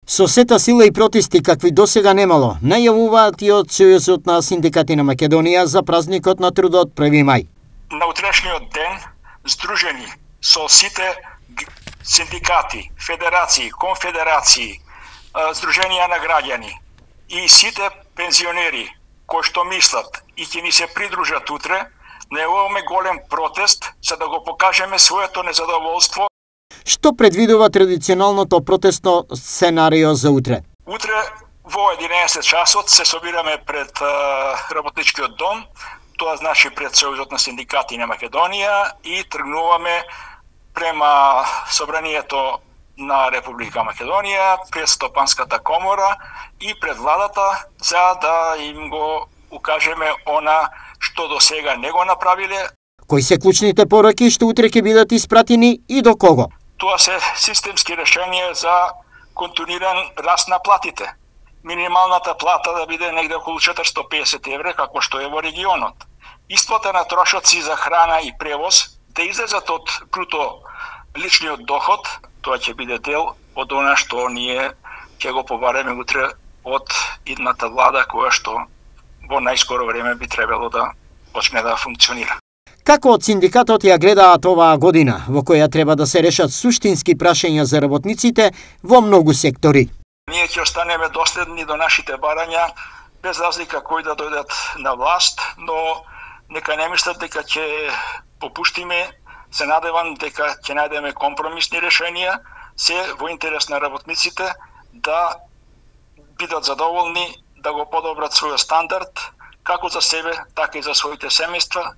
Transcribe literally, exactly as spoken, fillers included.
Со сета сила и протести какви досега немало, најавуваат и од Сојузот на синдикати на Македонија за празникот на трудот први мај. На утрешниот ден, здружени со сите синдикати, федерации, конфедерации, здруженија на граѓани и сите пензионери кои што мислат и ќе ни се придружат утре, најавуваме голем протест за да го покажеме своето незадоволство. Што предвидува традиционалното протестно сценарио за утре? Утре во единаесет часот се собираме пред uh, работничкиот дом, тоа значи пред Сојузот на синдикати на Македонија, и тргнуваме према собранието на Република Македонија, пред Стопанската комора и пред владата, за да им го укажеме она што до сега не го направиле. Кои се клучните пораки што утре ќе бидат испратени и до кого? Тоа се системски решенија за континуиран раст на платите. Минималната плата да биде негде околу четиристотини и песет евра, како што е во регионот. Исплата на трошоци за храна и превоз да излезат од бруто личниот доход, тоа ќе биде дел од она што ние ќе го побареме утре од идната влада, која што во најскоро време би требало да почне да функционира. Како од синдикатот ја гледаат оваа година, во која треба да се решат суштински прашања за работниците во многу сектори? Ние ќе останеме доследни до нашите барања, без разлика кои да дојдат на власт, но нека не мислат дека ќе попуштиме. Се надевам дека ќе најдеме компромисни решенија, се во интерес на работниците да бидат задоволни, да го подобрат својот стандард, како за себе, така и за своите семејства.